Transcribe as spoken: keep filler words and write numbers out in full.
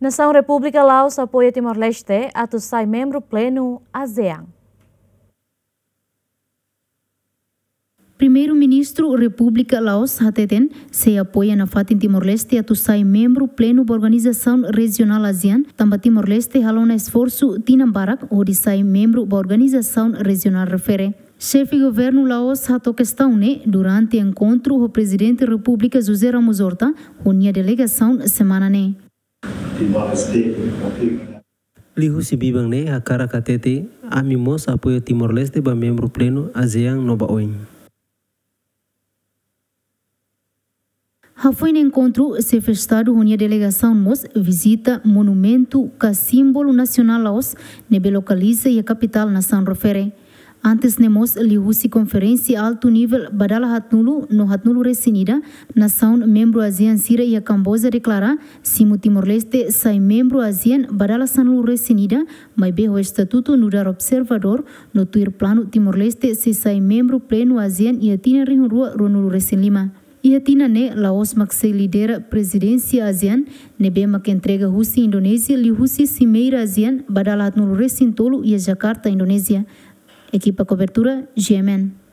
Nasaun Repúblika Laos apoia Timor-Leste atu sai membru plenu ASEAN. Primeiru-Ministru Repúblika Laos hateten sei apoia nafatin Timor-Leste atu sai membru plenu ba organizasaun rejionál ASEAN, tanba Timor-Leste halo ona esforsu tinan barak hodi sai membru ba organizasaun rejionál refere. Xefe Governu Laos hato'o kestaun ne'e durante enkontru ho Prezidente Repúblika José Ramos Horta ho nia delegasaun semana ne'e. Liuhusi biban ne'e hakarak hatete, ami mós apoia Timor-Leste ba membru plenu ASEAN no ba OIM. Hafoin enkontru, Xefe Estadu ho nia delegasaun mós vizita monumentu ka símbolu nasionál Laos ne'ebé lokaliza iha kapitál nasaun refere. Antes ne'e mós liuhusi konferénsia altu nivel ba dala haatnulu no haatnulu-resin-ida nasaun membru ASEAN sira iha Kamboja deklara simu Timor-Leste sai membru ASEAN ba dala sanulu-resin-ida, maibé ho estatutu nu'udar observadór, no tuir planu Timor-Leste sei sai membru plenu ASEAN iha tinan rihun rua ruanulu-resin-lima. Iha tinan ne'e Laos mak sei lidera prezidénsia ASEAN, ne'ebé mak entrega husi Indonézia liuhusi simeira ASEAN ba dala haatnulu-resin-tolu iha Jakarta, Indonézia. Ekipa kobertura, GMN.